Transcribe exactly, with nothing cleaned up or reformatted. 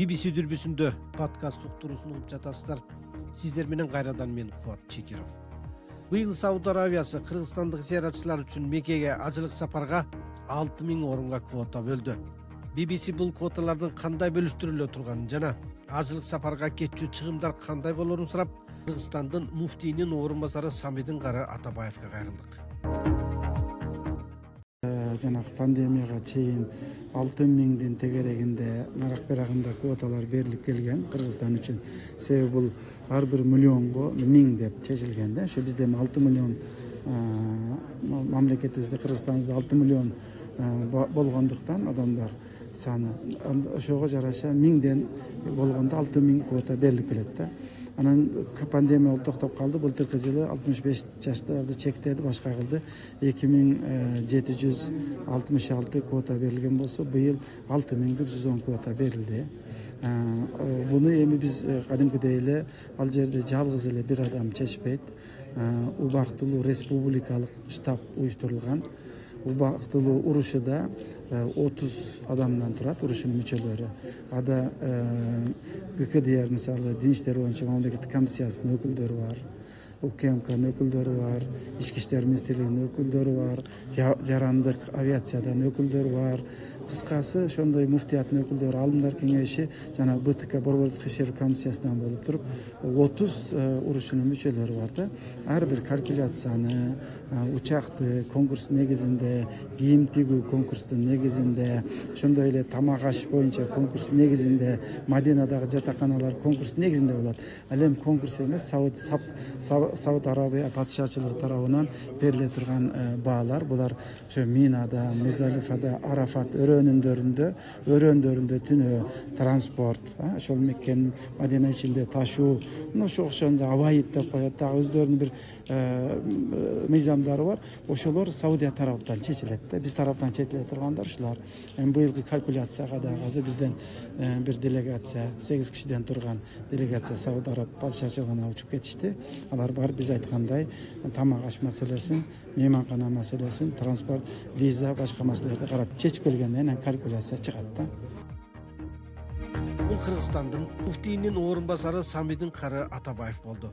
би би си дүрбүсүндө подкаст уктуруусун угуп жатасыздар. Сиздер менен кайрадан мен Кубат Чекиров. Быйыл Сауд Арабиясы кыргызстандык зыяратчылар үчүн Меккеге ажылык сапарга алты миң орунга квота бөлдү. би би си бул квоталардын кандай бөлүштүрүлө турганын жана ажылык сапарга кетчү чыгымдар кандай болорун сурап, Кыргызстандын муфтийинин орун басары Самидин Кары Атабаевга кайрылдык. Жанагы пандемияга чейин алты миңдин тегерегинде нарак берагында квоталар берилип келген Кыргызстан үчүн. Себеби бул ар бир миллионго миң деп чечилген да. Ошо бизде алты миллион мамлекетибизде, Кыргызстаныбызда алты миллион болгондуктан адамдар саны ошого жараша миңден болгондо алты миң квота берилип келет да. Анан пандемия токтоп калды. Былтыркы жылы алтымыш беш жаштарды чектеди, башка кылды. эки миң жети жүз алтымыш алты квота берилген болсо, быйыл алты миң бир жүз он квота берилди. Буну эми биз кадимкидей эле ал жерде жалгыз эле бир адам чечпейт. Убактылуу республикалык штаб уюштурулган. Убактылуу урушуда отуз адамдан турат, урушунун мүчөлөрү. Ада ГКДР, мисалы, Дин иштери боюнча мамлекеттик комиссиясынын өкүлдөрү бар, УКМКнын өкүлдөрү бар, Ички иштер министрлигинин өкүлдөрү бар, жарандык авиациядан өкүлдөрү бар. Кыскасы, ошондой муфтияттын өкүлдөрү, алымдар кеңеши жана БТК борбордук ишер комиссиясынан болуп туруп, отуз урушунун мүчөлөрү бар да. Ар бир калькуляцияны, учакты конкурс негизинде, кийим тигүү конкурстун негизинде, ошондой эле тамак аш боюнча конкурс негизинде, Мадинадагы жатаканалар конкурс негизинде болот. Ал эми конкурс эмес, Сауд Сауд Арабия падышачылыгы тарабынан бериле турган баалар. Булар ошо Минада, Муздалифада, Арафат өрөөнүндөрүндө, өрөөндөрүндө түнөө транспорт, ошол Меккенин Мадина ичинде ташуу, ошо окшондо авайып деп коет, дагы өздөрүнүн бир мыйзамдары бар. Ошолор Саудия тараптан чечилет да. Биз тараптан чечиле тургандар ушулар. Эми быйылкы калькуляцияга дагы азыр бизден бир делегация, сегиз кишиден турган делегация Сауд Араб падышачылыгына учуп кетишти. Алар бар, биз айткандай тамак аш маселесин, мейманкана маселесин, транспорт, виза, башка маселелерди карап чечип келгенден кийин калькуляция чыгат да. Бул Кыргызстандын муфтийинин орун басары Самидин Кары Атабаев болду.